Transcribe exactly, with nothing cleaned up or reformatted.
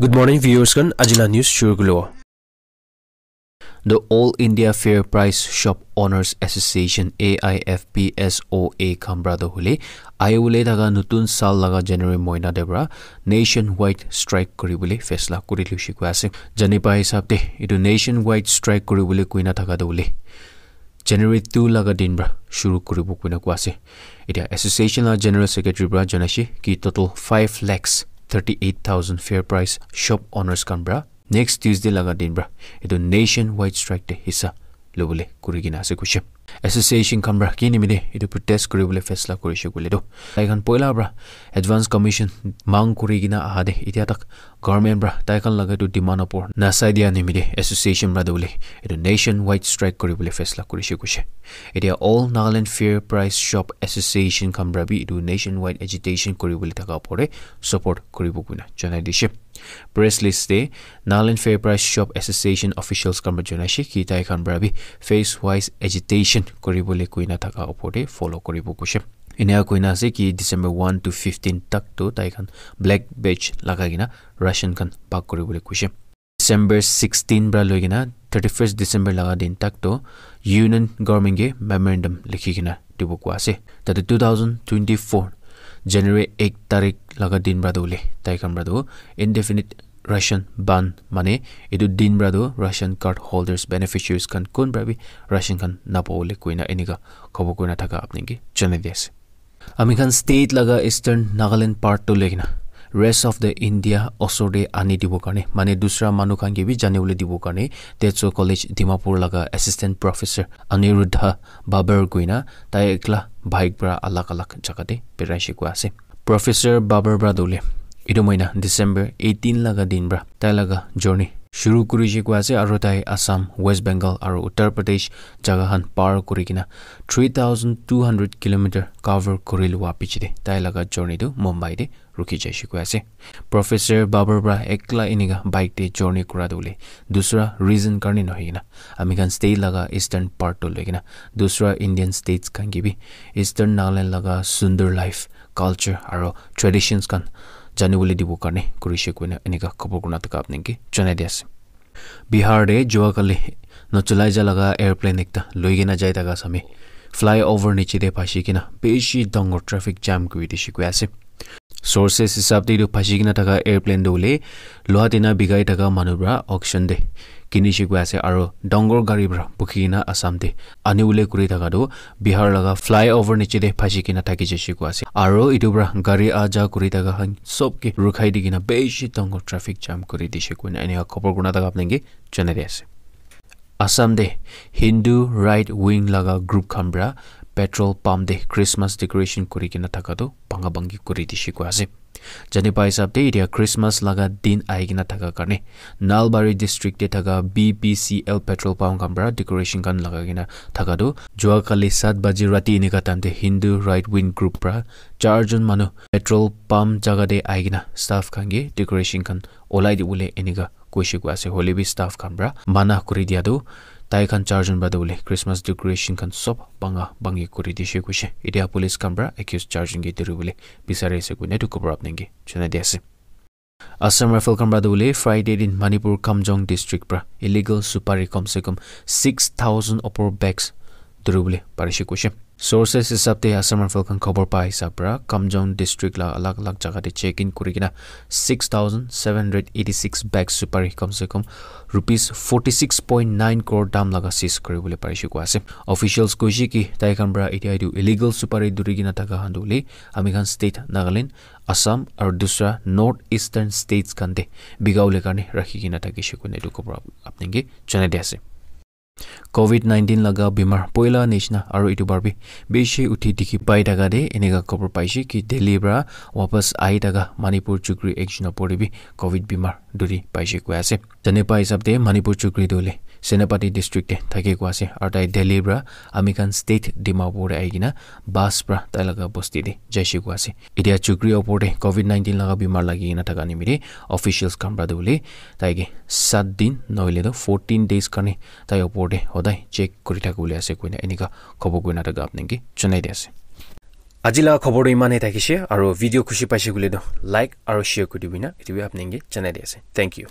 Good morning, viewers khan. Aji la news shuru kuribo. The All India Fair Price Shop Owners Association, A I F P S O A, khan pra toh hoile, ahiwole thaka notun saal laga January mohina te pra nationwide strike kuribole faisla kuri loise koi ase. Jani pa hisab te, etu nationwide strike kuribole koina thaka toh hoile, January two laga din pra shuru kuribo koina koi ase. Etia association la general secretary pra janaise ki total five lakhs thirty-eight thousand fair price shop owners khan pra next Tuesday laga din pra etu nationwide strike te hissa lobole kuri kena ase koise. Association khan pra ki nimite etu protest kuribole faisla kurise koile toh, tai khan poila pra advance commission mang kuri kena aha te etia tak government pra tai khan laga etu demand opor nasai dia nimite association pra toh hoile etu nationwide strike kuribole faisla kurise koise. Etia All Nagaland Fair Price Shop Association khan pra bi etu nationwide agitation kuribole thaka opor te support kuribo koina janai dishe. Press list te Nagaland Fair Price Shop Association officials khan pra janaise ki tai khan pra bi phase wise agitation kuribole koina thaka opor te follow kuribo koise. Enia koina ase ki December one to fifteen tak toh tai khan black badge lagai kena ration khan bhag kuribole koise. December sixteen pra loi kena thirty-first December laga din tak toh Union Government ke memorandum likhi kena dibo koi ase. Tate two thousand twenty-four January ek tarik laga din pra toh hoile tai khan pra toh indefinite ration ban, mane etu din pra toh ration card holders, beneficiaries khan kun pra bi ration khan napabole koina enika khobor kurina thaka apni ke janai di ase. Ami khan state laga Eastern Nagaland part toh loi kena rest of the India osor te ani dibo karne, mane dusra manu khan ke bi jani bole dibo karne, Tezo College Dimapur laga assistant professor Aniruddha Babar koina tai ekla bike pra alag alag jaga te berai she koi ase. Professor Babar pra toh hoile etu mohina December eighteen laga din pra tai laga journey shuru kuri she koi ase, aro tai Assam, West Bengal aro Uttar Pradesh jaga khan par kuri kena three thousand two hundred kilometer cover kuri lua piche te tai laga journey tu Mumbai te rukhi jai she koi ase. Professor Babar pra ekla enika bike te journey kura toh hoile dusra reason karne nohoi kena ami khan state laga eastern part toh loi kena dusra Indian states khan ke bi Eastern Nagaland laga sundor life, culture aro traditions khan jani bole dibo karne kuri she koina enika khobor kurina thaka apni ke janai di ase. Bihar te jua kali nachulai ja laga airplane ekta loi kena jai thaka sami flyover niche te phashi kena bishi dangor traffic jam kuri dishe koi ase. Sources hisab te etu phashi kena thaka airplane toh hoile loha tina bikai thaka manu pra auction te kini she koi ase, aro dangor gari pra bukhi kena Assam te ani bole kuri thaka toh Bihar laga flyover niche te phashi kena thaki jai she koi ase, aro etu pra gari aha ja kuri thaka khan sob ke rukhai di kena bishi dangor traffic jam kuri dishe koina enika khobor kurina thaka apni ke janai di ase. Assam te Hindu right wing laga group khan pra petrol pump te Christmas decoration kuri kena thaka toh bhanga bhangi kuri dishe koi ase. Jani pa hisab te etia Christmas laga din ahi kena thaka karne Nalbari district te thaka B P C L petrol pump khan pra decoration khan lagai kena thaka toh jua kali sat baji rati enika time te Hindu right wing group pra char jon manu petrol pump jaga te ahi kena staff khan ke decoration khan olai dibole enika koishe koi ase, hoile bi staff khan pra mana kuri dia toh tai khan char jon pra toh hoile Christmas decoration khan sob bhanga bhangi kuri dishe koishe. Etia police khan pra accused char jon ke dhuribole bisari ase koina etu khobor apni ke janai di ase. Assam Rifle khan pra toh hoile Friday din Manipur Kamjong district pra illegal supari kom se kom six thousand opor bags dhuribole parishe koishe. Sources hisab te Assam Rifle khan khobor pa hisab pra Kamjong district la alag alag jaga te check in kuri kena six thousand seven hundred eighty six bag supari kom se kom rupees forty six point nine crore dam laga seize kuri bole parishe koi ase. Officials koishe ki tai khan pra etia etu illegal supari dhuri kena thaka khan toh hoile ami khan state Nagaland, Assam aru dusra North Eastern states khan te bika bole karne rakhi kena thakishe koina etu khobor ap- apni ke janai di ase. Covid nineteen laga bimar poila nishina aru etu bar bi bishi uthi dikhi pai thaka te enika khobor paishe ki Delhi pra wapas ahi thaka Manipur chukri ekjon opor te bi Covid bimar dhuri paishe koi ase. Jane pa hisab te Manipur chukri tu hoile Senapati district te thake koi ase aru tai Delhi pra ami khan state Dimapur te ahi kena bus pra tai laga bosti te jaishe koi ase. Etia chukri opor te Covid nineteen laga bimar lagi kena thaka nimite officials khan pra tu hoile tai ke sat din nohoile tu fourteen days karne tai opor te hodai check kuri thakibole ase koina enika khobor kurina thaka apni ke janai di ase. Aji laga khobor tu iman he thakishe, aru video khushi paishe koile tu like aru share kuri dibi na, etu bi apni ke janai di ase. Thank you.